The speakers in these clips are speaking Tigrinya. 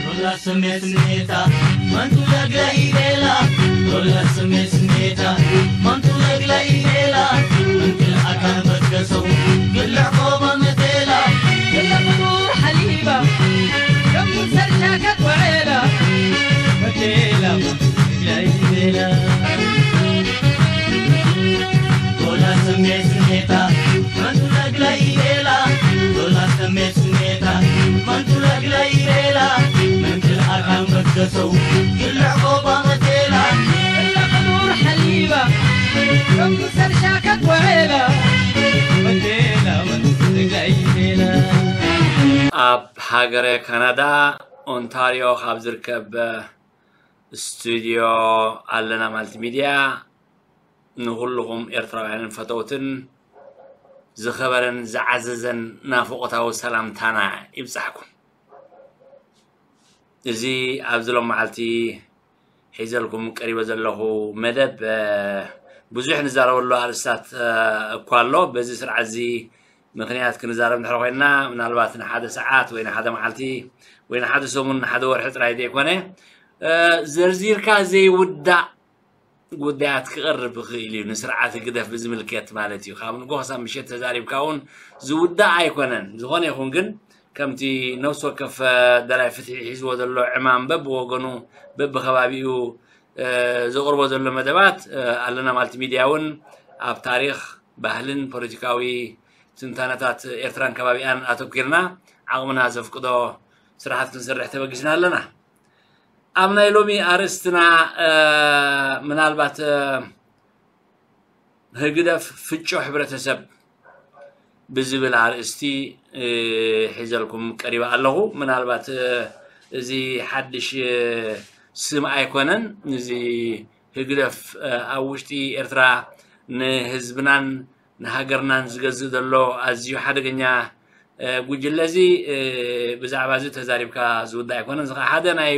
ዶላ ስሜት ስሜታ መንቱ ለግለ ኢሌላ። ዶላ ስሜት ስሜታ መንቱ ለግለ ኢሌላ። እንክል ኣካን በትከሰው ግልዕ ቆባ መቴላ። ግለ ፍጡር ሓሊባ ከም ሰርሻ ከትወዕላ። መቴላ መንቱ ለግለ ኢሌላ። ዶላ ስሜት ስሜታ መንቱ ለግለ ኢሌላ። ዶላ ስሜት ስሜታ መንቱ ለግለ ኢሌላ። መንክል ኣካን በትከሰው ግልዕ ቆባ መቴላ። ግለ ፍጡር ሓሊባ ከም ሰርሻ ከትወዕላ። መቴላ መንቱ ለግለ ኢሌላ። ኣብ ሃገረ ካናዳ ኦንታርዮ ካብ ዝርከብ ስቱድዮ ኣለና ማልቲ ሚድያ ንኹልኹም ኤርትራውያንን ፈተውትን ዝኸበረን ዝዓዘዘን ናፍቖታዊ ሰላምታና ይብጻሕኩም። እዚ ኣብዚ ሎም መዓልቲ ሒዘልኩም ቀሪበ ዘለኹ መደብ፣ እ፣ ብዙሕ ንዛረበሉ ኣርእስታት፣ እ፣ እኳ ኣሎ። በዚ ስርዓት እዚ ምኽንያት ክንዛረብ እንድሕር ኮይንና፣ ምናልባት ንሓደ ሰዓት ወይ ንሓደ መዓልቲ ወይ ንሓደ ሰሙን፣ ንሓደ ወርሒ ጥራይ ዘይኮነ፣ እ፣ ዘርዚርካ ዘይውዳእ ጉዳያት ክቐርብ ይኽእል እዩ። ንስርዓት ህግደፍ ብዝምልከት ማለት እዩ። ካብ ንጎ ክሳብ ምሸት ተዛሪብካ እውን ዝውዳእ ኣይኮነን። ዝኾነ ይኹን ግን፣ ከምቲ ነፍሲ ወከፍ፣ እ፣ ደላይ ፍትሒ ሒዝዎ ዘሎ ዕማም፣ በብወገኑ፣ በብኸባቢኡ፣ እ፣ ዘቕርቦ ዘሎ መደባት፣ እ፣ ኣለና ማልቲ ሚድያ እውን ኣብ ታሪኽ፣ ባህልን ፖለቲካዊ ትንታነታት ኤርትራን ከባቢኣን ኣተኲርና ዓቕምና ዘፍቅዶ ስራሓት ክንሰርሕ ተበጊስና ኣለና። ኣብ ናይ ሎሚ ኣርእስትና፣ እ፣ ምናልባት፣ እ፣ ህግደፍ ፍጮ ሕብረተሰብ ብዝብል ኣርእስቲ፣ እ፣ ሒዘልኩም ቀሪበ ኣለኹ። ምናልባት፣ እ፣ እዚ ሓድሽ፣ እ፣ ስም ኣይኮነን። እዚ ህግደፍ፣ እ፣ ኣብ ውሽጢ ኤርትራ ንህዝብናን ንሃገርናን ዝገዝእ ዘሎ ኣዝዩ ሓደገኛ፣ እ፣ ጉጅለ እዚ፣ እ፣ ብዛዕባ እዚ ተዛሪብካ ዝውዳእ ኣይኮነን። እዚ ኸዓ ሓደ ናይ፣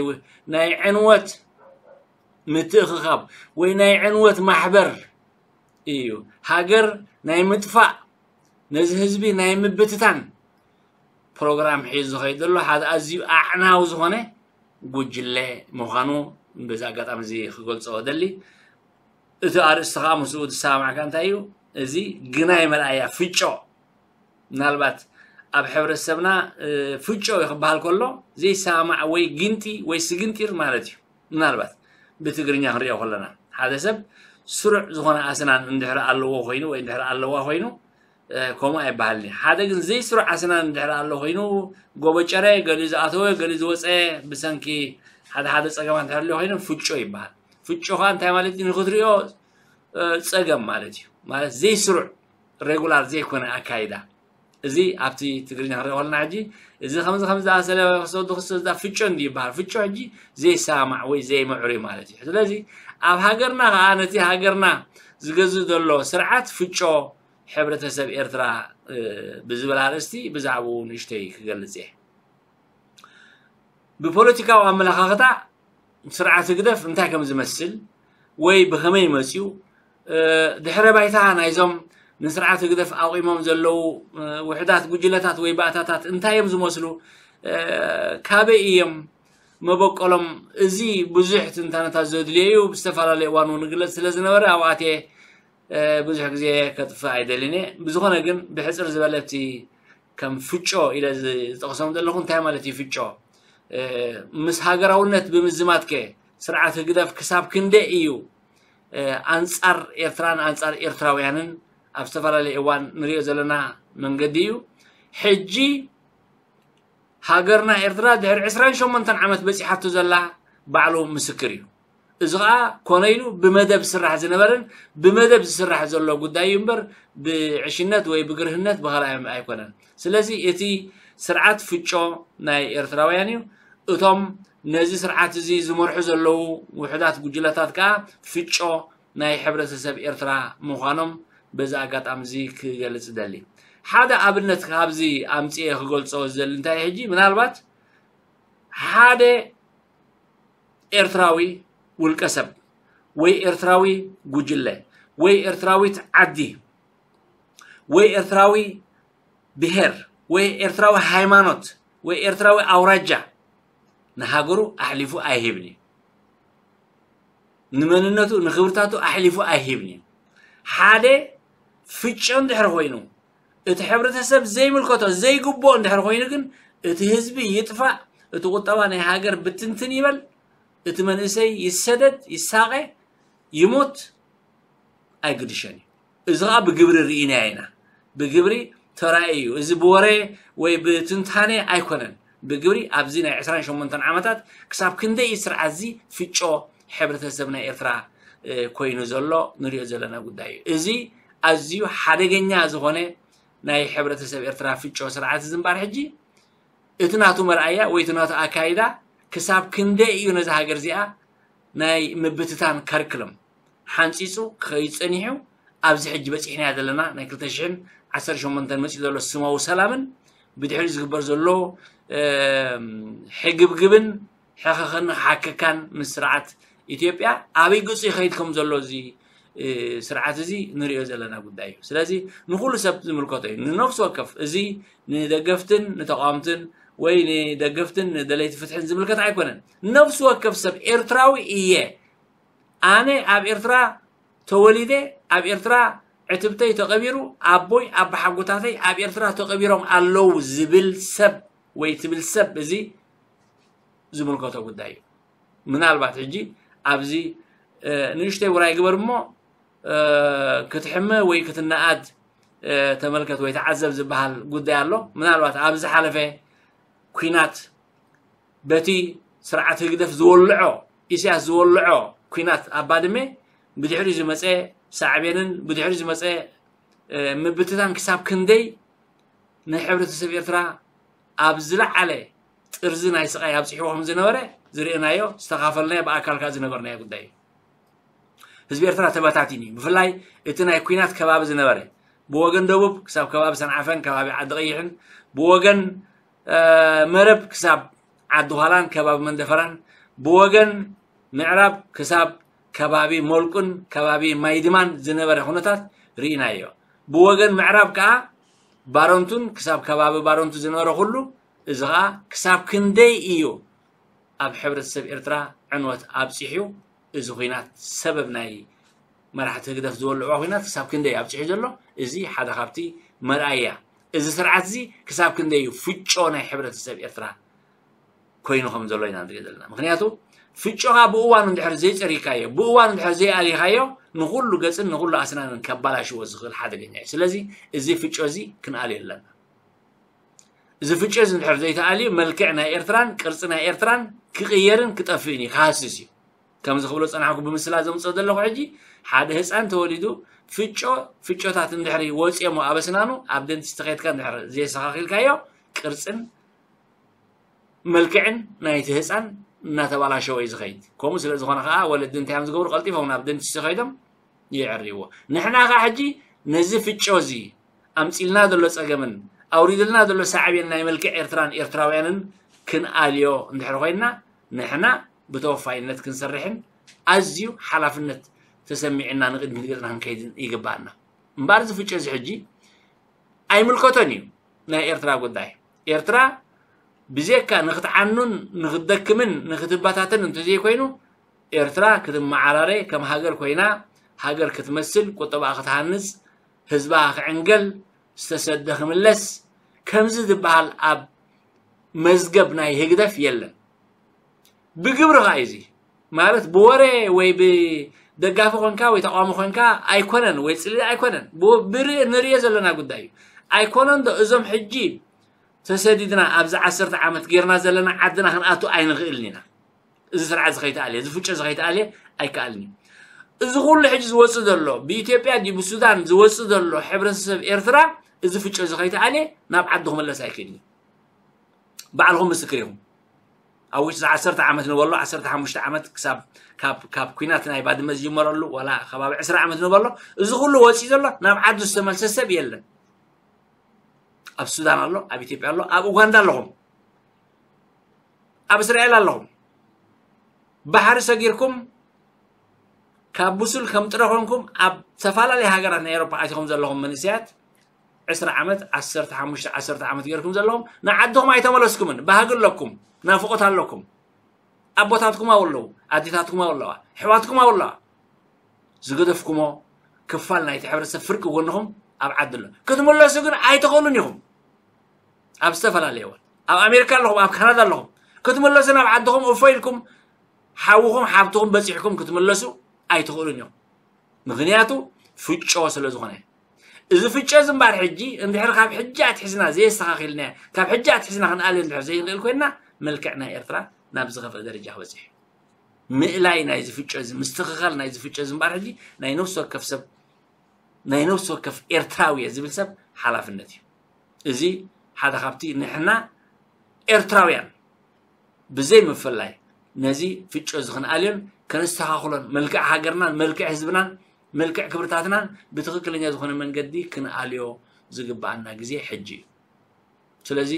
ናይ ዕንወት ምትእኽኻብ ወይ ናይ ዕንወት ማሕበር እዩ። ሃገር ናይ ምጥፋእ፣ ነዚ ህዝቢ ናይ ምብትታን ፕሮግራም ሒዙ ዝኸይድ ዘሎ ሓደ ኣዝዩ ኣዕናዊ ዝኾነ ጉጅለ ምዃኑ በዚ ኣጋጣሚ እዚ ክገልጾ እደሊ። እቲ ኣርእስቲ ኸዓ ምስኡ ዝሰማማዕ እንታይ እዩ? እዚ ግናይ መርኣያ ፍጮ። ምናልባት ኣብ ሕብረተሰብና፣ እ፣ ፍጮ ክበሃል ከሎ ዘይሰማማዕ ወይ ግንቲ ወይ ስግንጢር ማለት እዩ። ምናልባት ብትግርኛ ክንሪኦ ከለና ሓደ ሰብ ስሩዕ ዝኾነ ኣስናን እንድሕር ኣለዎ ኮይኑ ወይ እንድሕር ኣለዋ ኮይኑ፣ እ፣ ከምኡ ኣይበሃልን እዩ። ሓደ ግን ዘይስሩዕ ኣስናን እንድሕር ኣሎ ኮይኑ፣ ጎበጨረ፣ ገሊኡ ዝኣተወ፣ ገሊኡ ዝወፀ፣ ብሰንኪ ሓደ ሓደ ፀገማት እንድሕር ኣሎ ኮይኑ ፍጮ ይበሃል። ፍጮ ኸዓ እንታይ ማለት እዩ? ንክትሪኦ፣ እ፣ ፀገም ማለት እዩ። ማለት ዘይስሩዕ፣ ሬጉላር ዘይኮነ ኣካይዳ። እዚ ኣብቲ ትግርኛ ክንሪኦ ከለና ሕጂ፣ እዚ ከምዚ ከምዚ ዝኣሰለ ክሰዱ ክሰዱ ፍጮ እንዲ ይበሃል። ፍጮ ሕጂ ዘይሰማማዕ ወይ ዘይምዕሩይ ማለት እዩ። ስለዚ ኣብ ሃገርና ኸዓ ነቲ ሃገርና ዝገዝእ ዘሎ ስርዓት ፍጮ ሕብረተሰብ ኤርትራ፣ እ፣ ብዝብል ኣርእስቲ ብዛዕባኡ ንእሽተይ ክገልጽ እየ። ብፖለቲካዊ ኣመለኻኽታ ስርዓት ህግደፍ እንታይ ከም ዝመስል ወይ ብኸመይ መጽዩ፣ እ፣ ድሕረ ባይታ ናይዞም ንስርዓት ህግደፍ ኣቑሞም ዘለዉ፣ እ፣ ውሑዳት ጉጅለታት ወይ ባእታታት እንታይ እዮም ዝመስሉ፣ እ፣ ካበይ እዮም መበቆሎም፣ እዚ ብዙሕ ትንታነታት ዘድልዮ እዩ። ብዝተፈላለየ እዋን እውን ይግለጽ ስለ ዝነበረ ኣብኡ ኣትየ እ፣ ብዙሕ ግዜ ከጥፍእ ኣይደልን እየ። ብዝኾነ ግን ብሕጽር ዝበለ እቲ ከም ፍጮ ኢለ ዝ-፣ ዝጠቕሶም ዘለኹ እንታይ ማለት እዩ ፍጮ? እ፣ ምስ ሃገራውነት ብምዝማትከ ስርዓት ህግደፍ ክሳብ ክንደይ እዩ፣ እ፣ ኣንጻር ኤርትራን ኣንጻር ኤርትራውያንን ኣብ ዝተፈላለየ እዋን ንሪኦ ዘለና መንገዲ እዩ። ሕጂ ሃገርና ኤርትራ ድሕሪ ዕስራን ሸሞንተን ዓመት በጺሓቶ ዘላ ባዕሉ ምስክር እዩ። እዚ ኸኣ ኮነ ኢሉ ብመደብ ዝስራሕ ዝነበረን ብመደብ ዝስራሕ ዘሎ ጉዳይ እዩ እምበር ብዕሽነት ወይ ብግርህነት ብኻልኣይ ኣይኮነን። ስለዚ እቲ ስርዓት ፍጮ ናይ ኤርትራውያን እዩ። እቶም ነዚ ስርዓት እዚ ዝመርሑ ዘለዉ ውሑዳት ጉጅለታት ከኣ ፍጮ ናይ ሕብረተሰብ ኤርትራ ምዃኖም በዚ ኣጋጣሚ እዚ ክገልጽ እደሊ። ሓደ ኣብነት ካብዚ ኣምፅኤ ክገልፆ ዝደሊ እንታይ ሕጂ ምናልባት ሓደ ኤርትራዊ ውልቀ ሰብ ወይ ኤርትራዊ ጉጅለ ወይ ኤርትራዊት ዓዲ ወይ ኤርትራዊ ብሄር ወይ ኤርትራዊ ሃይማኖት ወይ ኤርትራዊ ኣውራጃ ንሃገሩ ኣሕሊፉ ኣይህብን እዩ። ንመንነቱ ንክብርታቱ ኣሕሊፉ ኣይህብን እዩ። ሓደ ፍጮ እንድሕር ኮይኑ እቲ ሕብረተሰብ ዘይምልከቶ ዘይግብኦ እንድሕር ኮይኑ ግን እቲ ህዝቢ ይጥፋእ፣ እቲ ቁጠባ ናይ ሃገር ብትንትን ይበል፣ እቲ መንእሰይ ይሰደድ፣ ይሳቐ፣ ይሞት ኣይግድሸን እዩ። እዚ ከዓ ብግብሪ ርኢናዮ ኢና። ብግብሪ ተራእዩ እዩ። እዚ ብወረ ወይ ብትንታነ ኣይኮነን። ብግብሪ ኣብዚ ናይ ዕስራን ሸሞንተን ዓመታት ክሳብ ክንደይ እዩ ስርዓት እዚ ፍጮ ሕብረተሰብ ናይ ኤርትራ ኮይኑ ዘሎ ንሪኦ ዘለና ጉዳይ እዩ። እዚ ኣዝዩ ሓደገኛ ዝኾነ ናይ ሕብረተሰብ ኤርትራ ፍጮ ስርዓት እዚ እምበኣር ሕጂ እቲ ናቱ መርኣያ ወይ እቲ ናቱ ኣካይዳ ክሳብ ክንደይ እዩ ነዛ ሃገር እዚኣ ናይ ምብትታን ከርክለም ሓንፂፁ ክኸይድ ፀኒሑ ኣብዚ ሕጂ በፂሕናያ ዘለና ናይ ክልተ ሽሕን ዓሰርተ ሸሞንተን መፂኡ ዘሎ ስማዊ ሰላምን ብድሕሪኡ ዝግበር ዘሎ ሕግብግብን ሕኸኸን ሓከካን ምስ ስርዓት ኢትዮጵያ ኣበይ ገፁ ይኸይድ ከም ዘሎ እዚ ስርዓት እዚ ንሪኦ ዘለና ጉዳይ እዩ። ስለዚ ንኩሉ ሰብ ዝምልከቶ እዩ። ንነፍሲ ወከፍ እዚ ንደገፍትን ንተቃወምትን ወይ ንደገፍትን ንደለይቲ ፍትሕን ዝምልከት ኣይኮነን። ነፍሲ ወከፍ ሰብ ኤርትራዊ እየ፣ ኣነ ኣብ ኤርትራ ተወሊደ፣ ኣብ ኤርትራ ዕትብተይ ተቐቢሩ፣ ኣቦይ ኣባሓጎታተይ ኣብ ኤርትራ ተቐቢሮም ኣለዉ ዝብል ሰብ ወይ ትብል ሰብ እዚ ዝምልከቶ ጉዳይ እዩ። ምናልባት ሕጂ ኣብዚ ንእሽተይ ውራይ ግበር እሞ ክትሕመ ወይ ክትነኣድ ተመልከት ወይ ተዓዘብ ዝበሃል ጉዳይ ኣሎ። ምናልባት ኣብ ዝሓለፈ ኲናት በቲ ስርዓት ህግደፍ ዝወልዖ ኢሳያስ ዝወልዖ ኲናት ኣብ ባድመ ብድሕሪ ዝመፀ ሳዕቤንን ብድሕሪ ዝመፀ ምብትታን ክሳብ ክንደይ ንሕብረተሰብ ኤርትራ ኣብ ዝለዓለ ጥርዚ ናይ ስቓይ ኣብፂሕዎ ከም ዝነበረ ዝርእናዮ ዝተኻፈልናዮ ብኣካል ከዓ ዝነበርናዮ ጉዳይ እዩ። ህዝቢ ኤርትራ ተበታቲኑ እዩ። ብፍላይ እቲ ናይ ኲናት ከባቢ ዝነበረ ብወገን ደቡብ ክሳብ ከባቢ ሰንዓፈን ከባቢ ዓዲ ቀይሕን ብወገን መረብ ክሳብ ዓዲ ኋላን ከባቢ መንደፈራን ብወገን ምዕራብ ክሳብ ከባቢ ሞልቁን ከባቢ ማይድማን ዝነበረ ኩነታት ርኢናዮ። ብወገን ምዕራብ ከዓ ባረንቱን ክሳብ ከባቢ ባረንቱ ዝነበረ ኩሉ እዚ ከዓ ክሳብ ክንደይ እዩ ኣብ ሕብረተሰብ ኤርትራ ዕንወት ኣብፂሑ እዚ ኹናት ሰበብ ናይ መራሕቲ ህግደፍ ዝበልዕዋ ኹናት ክሳብ ክንደይ ኣብፂሑ ዘሎ እዚ ሓደ ካብቲ መርኣያ እዚ ስርዓት እዚ ክሳብ ክንደይ እዩ ፍጮ ናይ ሕብረተሰብ ኤርትራ ኮይኑ ከም ዘሎ ኢና ንርኢ ዘለና። ምክንያቱ ፍጮኻ ብእዋኑ እንድሕር ዘይፀሪካዮ ብእዋኑ እንድሕር ዘይኣሊኻዮ ንኩሉ ገፅን ንኩሉ ኣስናንን ከባላሽዎ ዝኽእል ሓደገኛ እዩ። ስለዚ እዚ ፍጮ እዚ ክንኣልዮ ኣለና። እዚ ፍጨ እዚ እንድሕር ዘይተኣልዩ መልክዕ ናይ ኤርትራን ቅርፂ ናይ ኤርትራን ክቕየርን ክጠፍእን እዩ ክሃስስ እዩ። ከምዚ ክብሎ ዝፀናሕኩ ብምስላ ዘምፅኦ ዘለኹ ሕጂ ሓደ ህፃን ተወሊዱ ፍጮ ፍጮታት እንድሕር ወፅኦሞ ኣብ ኣስናኑ ኣብ ደንቲስቲ ከይድካ እንድሕር ዘየስተኻኺልካዮ ቅርፅን መልክዕን ናይቲ ህፃን እናተባላሸወ እዩ ዝኸይድ። ከምኡ ስለ ዝኾነ ከዓ ወለዲ እንታይ እዮም ዝገብሩ ቀልጢፎም ናብ ደንቲስቲ ከይዶም ይዕርይዎ። ንሕና ከዓ ሕጂ ነዚ ፍጮ እዚ ኣምፂልና ዘሎ ፀገምን ኣውሪድልና ዘሎ ሳዕቤን ናይ መልክዕ ኤርትራን ኤርትራውያንን ክንኣልዮ እንድሕር ኮይንና ንሕና ብተወፋይነት ክንሰርሕን ኣዝዩ ሓላፍነት ተሰሚዕና ንቅድሚት ገፅና ክንከይድን ይግባኣና። እምበኣር እዚ ፍጮ እዚ ሕጂ ኣይምልከቶን እዩ ናይ ኤርትራ ጉዳይ። ኤርትራ ብዜካ ንክትዓኑን ንክትደክምን ንክትበታተን እንተዘይኮይኑ ኤርትራ ክትመዓራረ ከም ሃገር ኮይና ሃገር ክትመስል ቁጠባኣ ክትሃንፅ ህዝባ ክዕንገል ዝተሰደ ክምለስ ከምዚ ዝበሃል ኣብ መዝገብ ናይ ህግደፍ የለን። ብግብሪ ከዓ እዚ ማለት ብወረ ወይ ብደጋፊ ኮንካ ወይ ተቃዋሚ ኮንካ ኣይኮነን ወይ ፅልኢ ኣይኮነን ብርኢ ንርእዮ ዘለና ጉዳይ እዩ። ኣይኮነን ዶ እዞም ሕጂ ተሰዲድና ኣብዚ ዓሰርተ ዓመት ጌርና ዘለና ዓድና ክንኣቱ ኣይንኽእልን ኢና። እዚ ስርዓት እዚ ከይተኣልየ እዚ ፍጨ እዚ ከይተኣልየ ኣይከኣልን እዩ። እዚ ኩሉ ሕጂ ዝወፅእ ዘሎ ብኢትዮጵያ ድዩ ብሱዳን ዝወፅእ ዘሎ ሕብረተሰብ ኤርትራ እዚ ፍጨ እዚ ከይተኣልየ ናብ ዓዱ ክመለስ ኣይክእልን እዩ። ባዕልኹም ምስክር ኢኹም። ኣብ ውሽጢ ዓሰርተ ዓመት ንበሎ ዓሰርተ ሓሙሽተ ዓመት ክሳብ ካብ ካብ ኩናት ናይ ባድመ ዝጅመረሉ ዋላ ከባቢ ዕስራ ዓመት ንበሎ እዚ ኩሉ ወፂኡ ዘሎ ናብ ዓዱ ዝተመልሰ ሰብ የለን። ኣብ ሱዳን ኣሎ፣ ኣብ ኢትዮጵያ ኣሎ፣ ኣብ ኡጋንዳ ኣለኹም፣ ኣብ እስራኤል ኣለኹም። ባሕሪ ሰጊርኩም ካብ ብሱል ከም ጥረ ኮንኩም ኣብ ዝተፈላለዩ ሃገራት ናይ ኤሮፓ ኣቲኹም ዘለኹም መንእሰያት ዕስራ ዓመት፣ ዓሰርተ ሓሙሽተ፣ ዓሰርተ ዓመት ገይርኩም ዘለኹም ንዓድኹም ኣይተመለስኩምን። ባህጊ ኣለኩም፣ ናፍቖት ኣለኩም። ኣቦታትኩም ኣለዉ፣ ኣዴታትኩም ኣለዋ፣ ኣሕዋትኩም ኣለዋ። ዝገደፍኩሞ ክፋል ናይቲ ሕብረተሰብ ፍርቂ ጎንኹም ኣብ ዓዲ ኣሎ። ክትምለሱ ግን ኣይትኽእሉን ኢኹም። ኣብ ዝተፈላለየ እዋን ኣብ ኣሜሪካ ኣለኹም፣ ኣብ ካናዳ ኣለኹም። ክትምለሱ ናብ ዓድኹም እፎ ኢልኩም ሓውኹም ሓብትኹም በፂሕኩም ክትምለሱ ኣይትኽእሉን ኢኹም። ምኽንያቱ ፍጮ ስለ ዝኾነ። እዚ ፍጨ እዚ እምበኣር ሕጂ እንድሕር ካብ ሕጂ ኣትሒዝና ዘየስተኻኺልና፣ ካብ ሕጂ ኣትሒዝና ክንኣልዮ እንድሕር ዘይንኽእል ኮይንና፣ መልክዕ ናይ ኤርትራ ናብ ዝኸፍአ ደረጃ ክበጽሕ እዩ። ምእላይ ናይዚ ፍጨ እዚ፣ ምስትኽኻል ናይዚ ፍጨ እዚ እምበኣር ሕጂ ናይ ነፍሲ ወከፍ ሰብ፣ ናይ ነፍሲ ወከፍ ኤርትራዊ እየ ዝብል ሰብ ሓላፍነት እዩ። እዚ ሓደ ካብቲ ንሕና ኤርትራውያን ብዘይ ምፍላይ ነዚ ፍጨ እዚ ክንኣልዮን ከነስተኻኽሎን፣ መልክዕ ሃገርናን መልክዕ ህዝብናን መልክዕ ክብርታትናን ብትኽክለኛ ዝኾነ መንገዲ ክንኣልዮ ዝግብኣና ግዜ ሕጂ እዩ። ስለዚ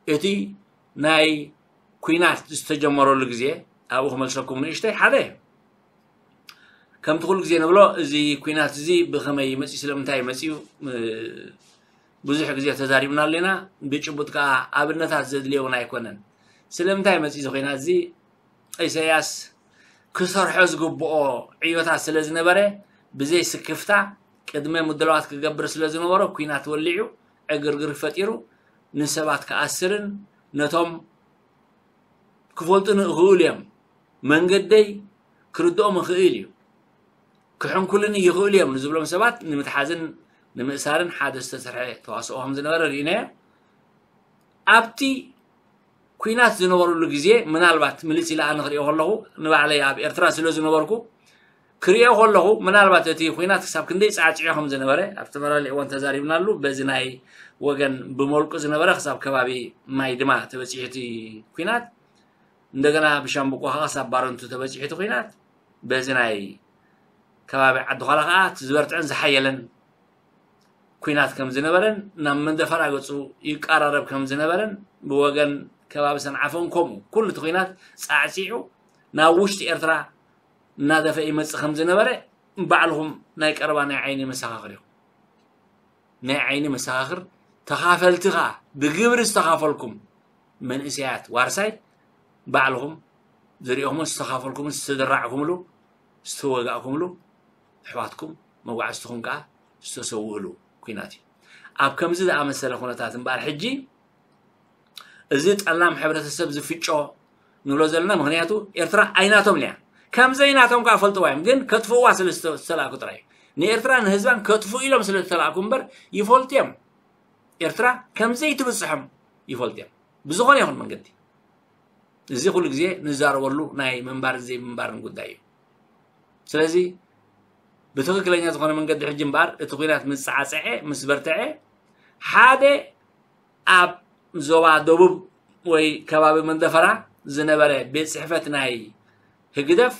እቲ ናይ ኲናት ዝተጀመረሉ ግዜ ኣብኡ ክመልሰኩም ንእሽተይ ሓደ ከምቲ ኩሉ ግዜ ንብሎ እዚ ኲናት እዚ ብኸመይ መፅዩ፣ ስለምንታይ መፅዩ፣ እ፣ ብዙሕ ግዜ ተዛሪብናሉ ኢና። ብጭቡጥ ከዓ ኣብነታት ዘድልዮ እውን ኣይኮነን። ስለምንታይ መፅዩ እዚ ኲናት እዚ? ኢሳያስ ክሰርሖ ዝግብኦ ዕዮታት ስለ ዝነበረ፣ ብዘይ ስክፍታ ቅድመ ምድላዋት ክገብር ስለ ዝነበሮ፣ ኲናት ወሊዑ፣ ዕግርግር ፈጢሩ፣ ንሰባት ክኣስርን ነቶም ክፈልጡኒ ይኽእሉ እዮም፣ መንገደይ ክርድኦም ይኽእል እዩ፣ ክሕንኩልኒ ይኽእሉ እዮም ንዝብሎም ሰባት ንምትሓዝን ንምእሳርን ሓደ ዝተሰርሐ ተዋስኦ ከም ዝነበረ ርኢናዮ። ኣብቲ ኲናት ዝነበረሉ ግዜ፣ ምናልባት ምልስ ኢለ ኣነ ክሪኦ ከለኹ፣ ንባዕለይ ኣብ ኤርትራ ስለ ዝነበርኩ ክሪኦ ከለኹ፣ ምናልባት እቲ ኲናት ክሳብ ክንደይ ጻዕጺዑ ከም ዝነበረ ኣብ ዝተፈላለየ እዋን ተዛሪብናሉ። በዚ ናይ ወገን ብመልቁ ዝነበረ ክሳብ ከባቢ ማይ ድማ ተበጺሑ እቲ ኲናት፣ እንደገና ብሻምብቆ ከዓ ክሳብ ባረንቱ ተበጺሑ እቲ ኲናት። በዚ ናይ ከባቢ ዓዲ ዃላ ከዓ እቲ ዝበርትዐን ዝሓየለን ኲናት ከም ዝነበረን ናብ መንደፈራ ገጹ ይቀራረብ ከም ዝነበረን ብወገን ከባቢ ሰንዓፈን ከምኡ ኩሉ እቲ ኲናት ጻዕጺዑ ናብ ውሽጢ ኤርትራ እናደፈ ይመጽእ ከም ዝነበረ ባዕልኹም ናይ ቀረባ ናይ ዓይኒ መሰኻኽር ኢኹም። ናይ ዓይኒ መሰኻኽር ተኻፈልቲ ኸኣ ብግብሪ ዝተኻፈልኩም መንእሰያት ዋርሳይ ባዕልኹም ዝሪኦኹምን ዝተኻፈልኩምን ዝተደራዕኩምሉ ዝተወጋእኩምሉ ኣሕዋትኩም መጓዕዝትኹም ከኣ ዝተሰውእሉ ኲናት እዩ። ኣብ ከምዚ ዝኣመሰለ ኩነታት እምበኣር ሕጂ እዚ ጠላም ሕብረተሰብ ዝፍጮ ንብሎ ዘለና፣ ምኽንያቱ ኤርትራ ኣይናቶም እያ። ከም ዘይናቶም ከኣ ፈልጥዋ እዮም፣ ግን ከጥፍእዋ ስለ ዝተ-፣ ዝተላእኩ ጥራይ እዩ። ንኤርትራ ንህዝባን ከጥፍኡ ኢሎም ስለ ዝተላእኩ እምበር ይፈልጡ እዮም። ኤርትራ ከም ዘይትብጽሖም ይፈልጡ እዮም። ብዝኾነ ይኹን መንገዲ። እዚ ኩሉ ግዜ ንዛረበሉ ናይ ምንባርን ዘይምንባርን ጉዳይ እዩ። ስለዚ ብትኽክለኛ ዝኾነ መንገዲ ሕጂ እምበኣር እቲ ኲናት ምስ ጸዓጸዐ፣ ምስ በርትዐ፣ ሓደ ኣብ ዞባ ደቡብ ወይ ከባቢ መንደፈራ ዝነበረ ቤት ጽሕፈት ናይ ህግደፍ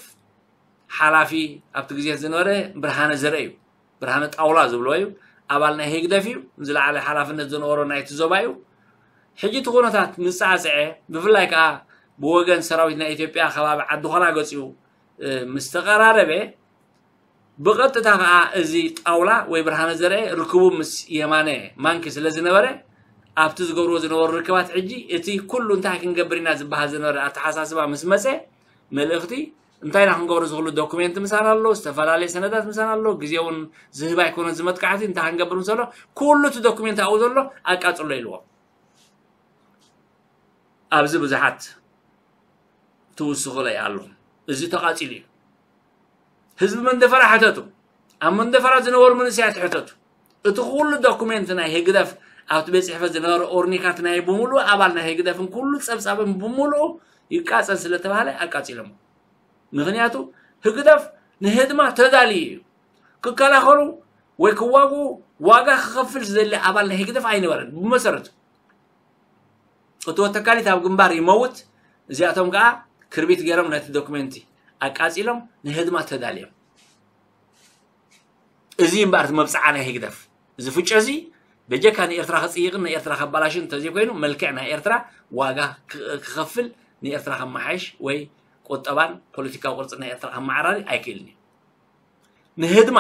ሓላፊ ኣብቲ ግዜ ዝነበረ ብርሃነ ዘርአ እዩ። ብርሃነ ጣውላ ዝብልዎ እዩ። ኣባል ናይ ህግደፍ እዩ። ዝለዓለ ሓላፍነት ዝነበሮ ናይቲ ዞባ እዩ። ሕጂ እቲ ኩነታት ምስ ጸዓጸዐ፣ ብፍላይ ከኣ ብወገን ሰራዊት ናይ ኢትዮጵያ ከባቢ ዓዲ ኾላ ገጺኡ፣ እ፣ ምስ ተቐራረበ፣ ብቐጥታ ከኣ እዚ ጣውላ ወይ ብርሃነ ዘርአ ርክቡ ምስ የማነ ማንኪ ስለ ዝነበረ፣ ኣብቲ ዝገብርዎ ዝነበሩ ርክባት ሕጂ እቲ ኩሉ እንታይ ክንገብር ኢና ዝበሃል ዝነበረ ኣተሓሳስባ ምስ መጸ፣ መልእኽቲ እንታይ ኢና ክንገብሮ፣ ዝኽሉ ዶኩሜንት ምሳና ኣሎ፣ ዝተፈላለየ ሰነዳት ምሳና ኣሎ፣ ግዜ እውን ዝህብ ኣይኮነን እዚ መጥቃዕቲ፣ እንታይ ክንገብር ምስ ዘሎ፣ ኩሉ እቲ ዶኩሜንት ኣብኡ ዘሎ ኣቃጽሎ ኢልዎ። ኣብዚ ብዙሓት ትውስኹለይ ኣለኹም። እዚ ተቓጺሉ እዩ። ህዝቢ መንደፈራ ሕተቱ። ኣብ መንደፈራ ዝነበሩ መንእሰያት ሕተቱ። እቲ ኩሉ ዶኩሜንት ናይ ህግደፍ ኣብቲ ቤት ጽሕፈት ዝነበረ ኦርኒካት ናይ ብምሉእ ኣባል ናይ ህግደፍን ኩሉ ጸብጻብን ብምሉኡ ይቃጸል ስለ ተባህለ ኣቃጺሎሞ። ምኽንያቱ ህግደፍ ንህድማ ተዳልዩ እዩ። ክከላኸሉ ወይ ክዋግኡ ዋጋ ክኸፍል ዝደሊ ኣባል ናይ ህግደፍ ኣይነበረን ብመሰረቱ። እቲ ወተካሊት ኣብ ግንባር ይመውት፣ እዚኣቶም ከኣ ክርቢት ገይሮም ነቲ ዶክመንቲ ኣቃጺሎም ንህድማ ተዳልዮም። እዚ እምበኣር እቲ መብጽዓ ናይ ህግደፍ። እዚ ፍጮ እዚ በጀካ ንኤርትራ ክጽይቕን ንኤርትራ ከባላሽን እንተዘይኮይኑ፣ መልክዕ ናይ ኤርትራ ዋጋ ክ- ክኸፍል፣ ንኤርትራ ከመሓይሽ ወይ ቁጠባን ፖለቲካዊ ቅርጺ ናይ ኤርትራ ከመዓራሪ ኣይክእልን እዩ። ንህድማ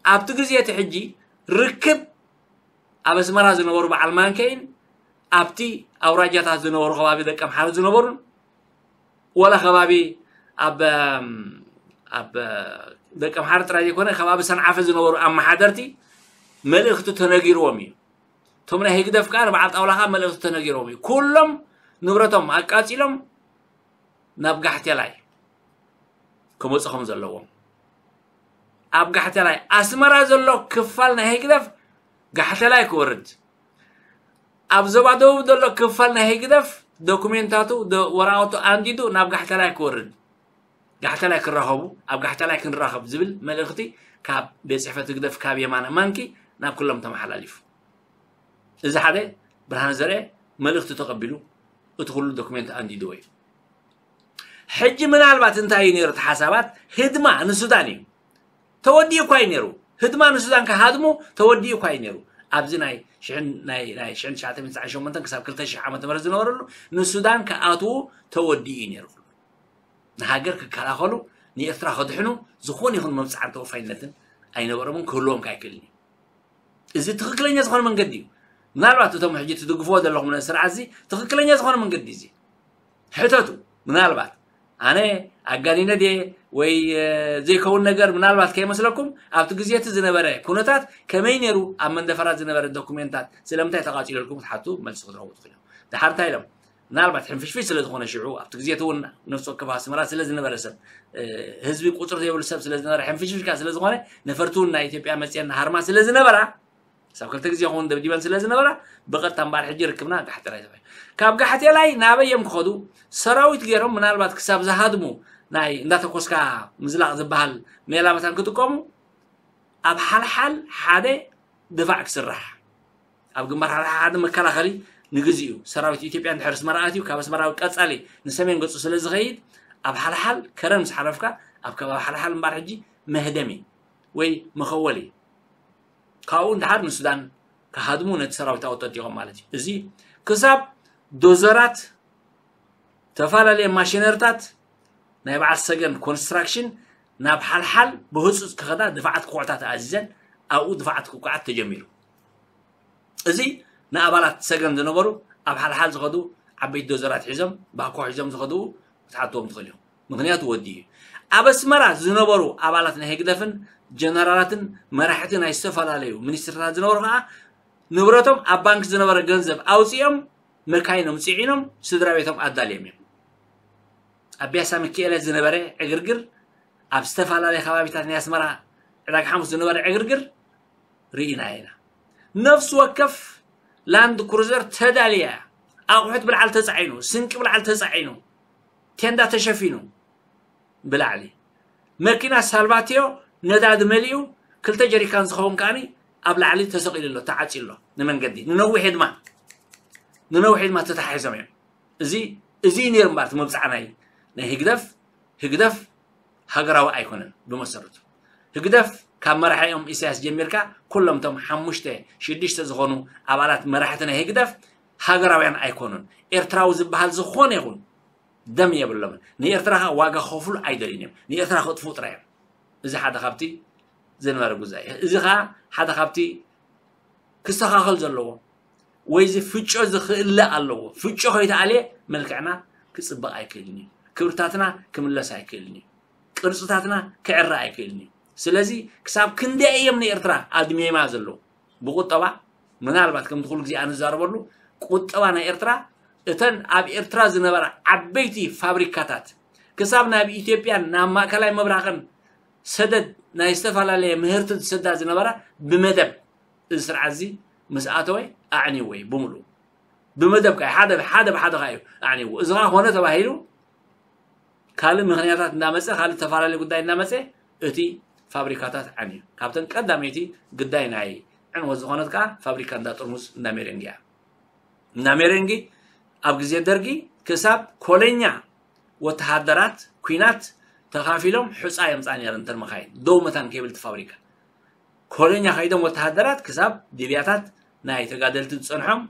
ኣብቲ ግዜ እቲ ሕጂ ርክብ ኣብ ኣስመራ ዝነበሩ በዓል ማንከይን ኣብቲ ኣውራጃታት ዝነበሩ ከባቢ ደቀምሓረ ዝነበሩን፣ ወላ ከባቢ ኣብ ኣብ ደቀምሓረ ጥራይ ዘይኮነ ከባቢ ሰንዓፈ ዝነበሩ ኣመሓደርቲ መልእኽቲ ተነጊርዎም እዩ። እቶም ናይ ህግደፍ ከዓ ንበዓል ጣውላ ከዓ መልእኽቲ ተነጊርዎም እዩ። ኩሎም ንብረቶም ኣቃጺሎም ናብ ጋሕቴላይ ክመፁ ከም ዘለዎም፣ ኣብ ጋሕቴላይ ኣስመራ ዘሎ ክፋል ናይ ህግደፍ ጋሕቴላይ ክወርድ፣ ኣብ ዞባ ደቡብ ዘሎ ክፋል ናይ ህግደፍ ዶኩሜንታቱ፣ ዶ- ወረቐቱ ኣንዲዱ ናብ ጋሕቴላይ ክወርድ፣ ጋሕቴላይ ክራኸቡ፣ ኣብ ጋሕቴላይ ክንራኸብ ዝብል መልእኽቲ ካብ ቤት ጽሕፈት ህግደፍ ካብ የማነ ማንኪ ናብ ኩሎም ተመሓላሊፉ። እዚ ሓደ ብርሃነ ዘርአ መልእኽቲ ተቐቢሉ እቲ ኩሉ ዶኩሜንት ኣንዲድዎ እዩ። ሕጂ ምናልባት እንታይ እዩ ነይሩ እቲ ሓሳባት? ህድማ ንሱዳን እዩ። ተወዲኡ እኳ እዩ ነይሩ። ህድማ ንሱዳን ክሃድሙ ተወዲኡ እኳ እዩ ነይሩ። ኣብዚ ናይ ሽሕን- ናይ ናይ ሽሕን ትሽዓተ ሚእትን ትስዓን ሸሞንተን ክሳብ ክልተ ሽሕ ዓመተ ምህረት ዝነበረሉ ንሱዳን ክኣትዉ ተወዲኡ እዩ ነይሩ። ንሃገር ክከላኸሉ፣ ንኤርትራ ከድሕኑ ዝኾነ ይኹን መብጽዓን ተወፋይነትን ኣይነበሮምን፣ ክህልዎም ከ ኣይክእልን እዩ። እዚ ትኽክለኛ ዝኾነ መንገዲ እዩ። ምናልባት እቶም ሕጂ ትድግፍዎ ዘለኹም ነዚ ስርዓት እዚ ትኽክለኛ ዝኾነ መንገዲ እዚ ሕተቱ። ምናልባት ኣነ ኣጋኒነ ድየ ወይ እ፣ ዘይከውን ነገር ምናልባት ከይመስለኩም፣ ኣብቲ ግዜ እቲ ዝነበረ ኩነታት ከመይ ነይሩ፣ ኣብ መንደፈራ ዝነበረ ዶኩሜንታት ስለምንታይ ተቓጺለልኩም ክትሓቱ መልሲ ክትረኽቡ ትኽእሉ እዮም። ድሓር እንታይ ኢሎም? ምናልባት ሕንፍሽፍሽ ስለ ዝኾነ ሽዑ ኣብቲ ግዜ እቲ እውን ነፍሲ ወከፍ ኣስመራ ስለ ዝነበረ ሰብ እ፣ ህዝቢ ቁፅሪ ዘይብሉ ሰብ ስለ ዝነበረ ሕንፍሽፍሽ ከዓ ስለ ዝኾነ ነፈርቲ እውን ናይ ኢትዮጵያ መፅየን ሃርማ ስለ ዝነበራ ክሳብ ክልተ ግዜ ክኸውን ደብዲበን ስለ ዝነበራ ብቐጥታ እምበኣር ሕጂ ርክብና ጋሕቴላይ ተባሂሉ። ካብ ጋሕቴላይ ናበይ እዮም ክኸዱ? ሰራዊት ገይሮም ምናልባት ክሳብ ዝሃድሙ ናይ እንዳተኮስካ ምዝላቕ ዝበሃል ሜላ መታን ክጥቀሙ ኣብ ሓልሓል ሓደ ድፋዕ ክስራሕ ኣብ ግንባር ሓልሓል ሓደ መከላኸሊ ንግዚኡ ሰራዊት ኢትዮጵያ እንድሕር ኣስመራ ኣትዩ ካብ ኣስመራ ቀጻሊ ንሰሜን ገጹ ስለ ዝኸይድ ኣብ ሓልሓል ከረን ምስ ሓለፍካ ኣብ ከባቢ ሓልሓል እምበኣር ሕጂ መህደሚ ወይ መኸወሊ ካብኡ እንድሓር ንሱዳን ክሃድሙ ነቲ ሰራዊት ኣወጠጢቖም ማለት እዩ። እዚ ክሳብ ዶዘራት ተፈላለየ ማሽነርታት ናይ በዓል ሰገን ኮንስትራክሽን ናብ ሓልሓል ብህፁፅ ክኸዳ ድፋዓት ክቑዕታት ኣዚዘን ኣብኡ ድፋዓት ክቁዓት ተጀሚሩ። እዚ ንኣባላት ሰገን ዝነበሩ ኣብ ሓልሓል ዝኸዱ ዓበይቲ ዶዘራት ሒዞም ባኮ ሒዞም ዝኸዱ ክትሓትዎም ትኽእል ኢኹም። ምክንያቱ ወዲ እዩ። ኣብ ኣስመራ ዝነበሩ ኣባላት ናይ ህግደፍን ጀነራላትን መራሕቲ ናይ ዝተፈላለዩ ሚኒስትርታት ዝነበሩ ከዓ ንብረቶም ኣብ ባንክ ዝነበረ ገንዘብ ኣውፂኦም መካይኖም ፅዒኖም ስድራ ቤቶም ኣዳልዮም እዮም። ኣብ ቢያሳ ሚካኤለ ዝነበረ ዕግርግር፣ ኣብ ዝተፈላለየ ከባቢታት ናይ ኣስመራ ዕዳጋ ሓሙስ ዝነበረ ዕግርግር ርኢና ኢና። ነፍሲ ወከፍ ላንድ ክሩዘር ተዳልያ እያ። ኣቑሑት ብላዕሊ ተፃዒኑ፣ ስንቂ ብላዕሊ ተፃዒኑ፣ ቴንዳ ተሸፊኑ ብላዕሊ መኪና ሳልቫትዮ ነዳዲ መሊኡ ክልተ ጀሪካን ዝኸውን ከዓኒ ኣብ ላዕሊ ተሰቒሉ ኣሎ፣ ተዓፅዩ ኣሎ። ንመንገዲ ንነዊሕ ድማ ንነዊሕ ድማ ተተሓሒዞም እዮም። እዚ እዚ እዩ ነይሩ እምበኣር እቲ መብፅዓ ናይ ናይ ህግደፍ ህግደፍ ሃገራዊ ኣይኮነን ብመሰረቱ። ህግደፍ ካብ መራሒኦም ኢሳያስ ጀሚርካ ኩሎም እቶም ሓሙሽተ ሽዱሽተ ዝኾኑ ኣባላት መራሕቲ ናይ ህግደፍ ሃገራውያን ኣይኮኑን። ኤርትራዊ ዝበሃል ዝኾነ ይኹን ደም የብሎምን። ንኤርትራ ከዓ ዋጋ ክኸፍሉ ኣይደልዩን እዮም። ንኤርትራ ከጥፍኡ ጥራይ እዮም። እዚ ሓደ ካብቲ ዝነበረ ጉዛይ። እዚ ከዓ ሓደ ካብቲ ክስተኻኸል ዘለዎ ወይ እዚ ፍጮ እዚ ክእለ ኣለዎ። ፍጮ ከይተኣልየ መልክዕና ክፅበቕ ኣይክእልን እዩ። ክብርታትና ክምለስ ኣይክእልን እዩ። ቅርፅታትና ክዕረ ኣይክእልን እዩ። ስለዚ ክሳብ ክንደይ እዮም ንኤርትራ ኣድሚማ ዘለዉ? ብቁጠባ ምናልባት ከምቲ ኩሉ ግዜ ኣንዛረበሉ ቁጠባ ናይ ኤርትራ እተን ኣብ ኤርትራ ዝነበራ ዓበይቲ ፋብሪካታት ክሳብ ናብ ኢትዮጵያን ናብ ማእከላይ ምብራቕን ሰደድ ናይ ዝተፈላለየ ምህርቲ ዝሰዳ ዝነበራ ብመደብ እዚ ስርዓት እዚ ምስ ኣተወ ኣዕንይዎ እዩ ብምሉኡ። ብመደብ ከዓ ሓደ ሓደ ብሓደ ከዓ እዩ ኣዕንይዎ። እዚ ከዓ ኮነ ተባሂሉ ካልእ ምኽንያታት እንዳመፀ ካልእ ተፈላለየ ጉዳይ እንዳመፀ እቲ ፋብሪካታት ዓንዩ። ካብተን ቀዳመይቲ ግዳይ ናይ ዕንወት ዝኾነት ከዓ ፋብሪካ እንዳ ጥርሙዝ እንዳ ሜሬንግ እያ። እንዳ ሜሬንግ ኣብ ግዜ ደርጊ ክሳብ ኮለኛ ወተሃደራት ኲናት ተኻፊሎም ሑፃ የምፃ ነይረን እተን መኻይን ደው መታን ከይብል እቲ ፋብሪካ ኮለኛ ከይዶም ወተሃደራት ክሳብ ሊብያታት ናይ ተጋደልቲ ዝጸንሖም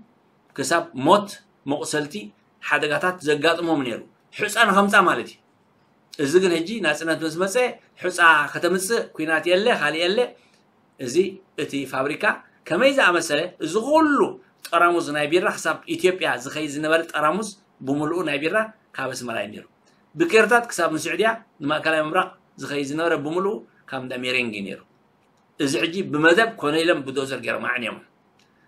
ክሳብ ሞት፣ መቑሰልቲ፣ ሓደጋታት ዘጋጥሞም ነይሩ። ሕጻ ንኸምጻ ማለት እዩ። እዚ ግን ሕጂ ናጽነት ምስ መጸ፣ ሕጻ ከተምጽእ፣ ኲናት የለ፣ ካልእ የለ። እዚ እቲ ፋብሪካ ከመይ ዝኣመሰለ፣ እዚ ኩሉ ጠራሙዝ ናይ ቢራ፣ ክሳብ ኢትዮጵያ ዝኸይድ ዝነበረ ጠራሙዝ ብምልኡ ናይ ቢራ ካብ ኣስመራ እዩ ነይሩ። ብኬርታት ክሳብ ንስዑድያ፣ ንማእከላይ ምብራቕ ዝኸይድ ዝነበረ ብምልኡ ካብ እንዳ ሜሬንግ እዩ ነይሩ። እዚ ሕጂ ብመደብ ኮነ ኢሎም ብዶዘር ገይሮም ኣዕንዮም።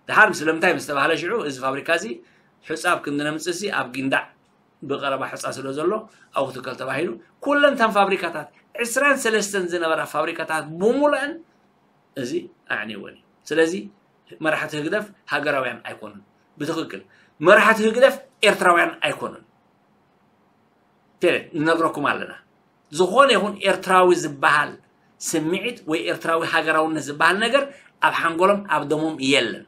ድሓር ስለምንታይ ምስ ተባህለ ሽዑ፣ እዚ ፋብሪካ እዚ ሕጻ ኣብ ክንዲ ነምጽእ ሲ ኣብ ጊንዳዕ ብቐረባ ሕጻ ስለ ዘሎ ኣብኡ ክትከል ተባሂሉ፣ ኩለን እተን ፋብሪካታት፣ ዕስራን ሰለስተን ዝነበራ ፋብሪካታት ብምሉአን እዚ ኣዕንይወን እዩ። ስለዚ መራሕቲ ህግደፍ ሃገራውያን ኣይኮኑን። ብትኽክል መራሕቲ ህግደፍ ኤርትራውያን ኣይኮኑን። ፔሬድ፣ ንነግረኩም ኣለና። ዝኾነ ይኹን ኤርትራዊ ዝበሃል ስምዒት ወይ ኤርትራዊ ሃገራውነት ዝበሃል ነገር ኣብ ሓንጎሎም፣ ኣብ ደሞም የለን።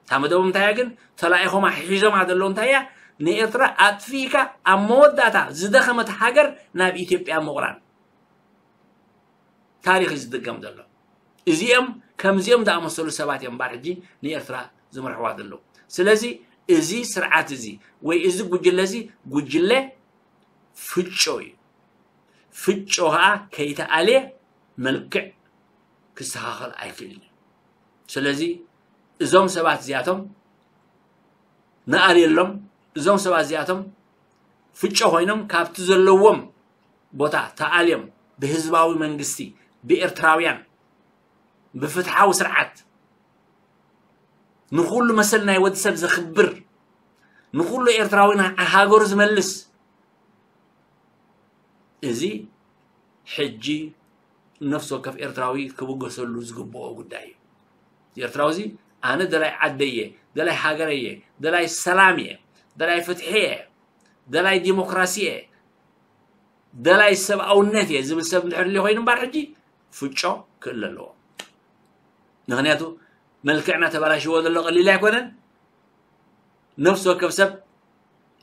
እታ መደቦም እንታይ እያ ግን? ተላኢኾማ ሒዞማ ዘለዉ እንታይ እያ? ንኤርትራ ኣጥፊእካ ኣብ መወዳእታ ዝደኸመት ሃገር ናብ ኢትዮጵያ ምቑራን። ታሪኽ እዩ ዝድገም ዘሎ። እዚኦም ከምዚኦም ዝኣመሰሉ ሰባት እዮም እምበኣር ሕጂ ንኤርትራ ዝመርሕዋ ዘለዉ። ስለዚ እዚ ስርዓት እዚ ወይ እዚ ጉጅለ እዚ ጉጅለ ፍጮ እዩ። ፍጮ ከዓ ከይተኣልየ መልክዕ ክስተኻኸል ኣይክእልን እዩ። ስለዚ እዞም ሰባት እዚኣቶም ንኣልየሎም። እዞም ሰባት እዚኣቶም ፍጮ ኮይኖም ካብቲ ዘለዎም ቦታ ተኣልዮም ብህዝባዊ መንግስቲ፣ ብኤርትራውያን፣ ብፍትሓዊ ስርዓት፣ ንኹሉ መሰል ናይ ወዲ ሰብ ዘኽብር፣ ንኹሉ ኤርትራዊ ና-፣ ሃገሩ ዝመልስ፣ እዚ ሕጂ ነፍሲ ወከፍ ኤርትራዊ ክብገሰሉ ዝግብኦ ጉዳይ እዩ። ኤርትራዊ እዚ ኣነ ደላይ ዓደይ እየ፣ ደላይ ሃገረይ እየ፣ ደላይ ሰላም እየ፣ ደላይ ፍትሒ እየ፣ ደላይ ዲሞክራሲ እየ፣ ደላይ ሰብኣውነት እየ ዝብል ሰብ እንድሕር ሊ ኮይኑ እምበኣር ሕጂ ፍጮ ክእለ ኣለዎ። ምኽንያቱ መልክዕና ተበላሽዎ ዘሎ ቀሊል ኣይኮነን። ነፍሲ ወከፍ ሰብ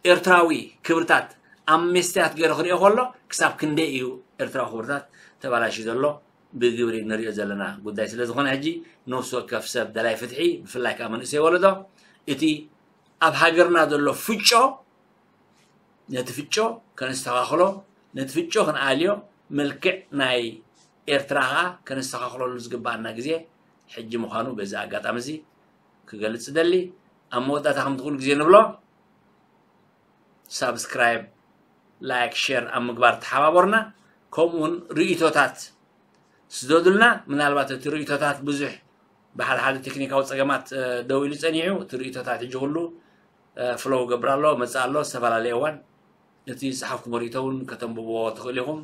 ኤርትራዊ ክብርታት ኣብ መስትያት ገይሩ ክሪኦ ከሎ ክሳብ ክንደይ እዩ ኤርትራዊ ክብርታት ተበላሽዩ ዘሎ ብግብሪ ንሪኦ ዘለና ጉዳይ ስለ ዝኾነ ሕጂ ነፍሲ ወከፍ ሰብ ደላይ ፍትሒ ብፍላይ ከዓ መንእሰይ ወለዶ እቲ ኣብ ሃገርና ዘሎ ፍጮ ነቲ ፍጮ ከነስተኻኽሎ፣ ነቲ ፍጮ ክንኣልዮ፣ መልክዕ ናይ ኤርትራ ኸኣ ከነስተኻኽለሉ ዝግብኣና ግዜ ሕጂ ምዃኑ በዚ ኣጋጣሚ እዚ ክገልጽ እደሊ። ኣብ መወዳእታ ከምቲ ኩሉ ግዜ ንብሎ፣ ሳብስክራይብ፣ ላይክ፣ ሼር ኣብ ምግባር ተሓባበሩና። ከምኡ እውን ርእይቶታት ስደዱልና። ምናልባት እቲ ርእይቶታት ብዙሕ ብሓደ ሓደ ቴክኒካዊ ጸገማት፣ እ፣ ደው ኢሉ ጸኒሑ። እቲ ርእይቶታት ሕጂ ኩሉ፣ እ፣ ፍሎው ገብር ኣሎ፣ መጽእ ኣሎ፣ ዝተፈላለየ እዋን። እቲ ዝጸሓፍኩሞ ርእይቶ እውን ከተንብብዎ ትኽእሉ ኢኹም።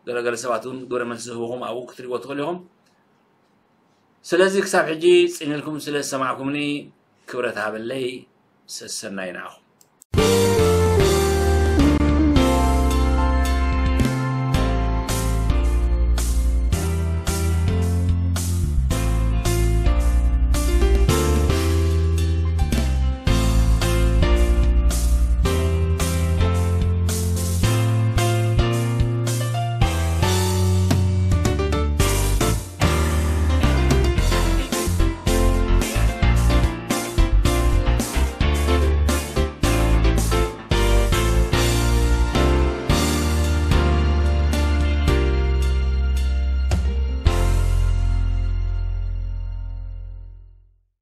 ገለገለ ሰባት እውን ግብረ መልሲ ዝህብኹም ኣብኡ ክትሪእዎ ትኽእሉ ኢኹም። ስለዚ ክሳብ ሕጂ ጽን ኢልኩም ስለ ዝሰማዕኩምኒ ክብረት ሃበለይ። ሰሰናዩ ንዓኹም።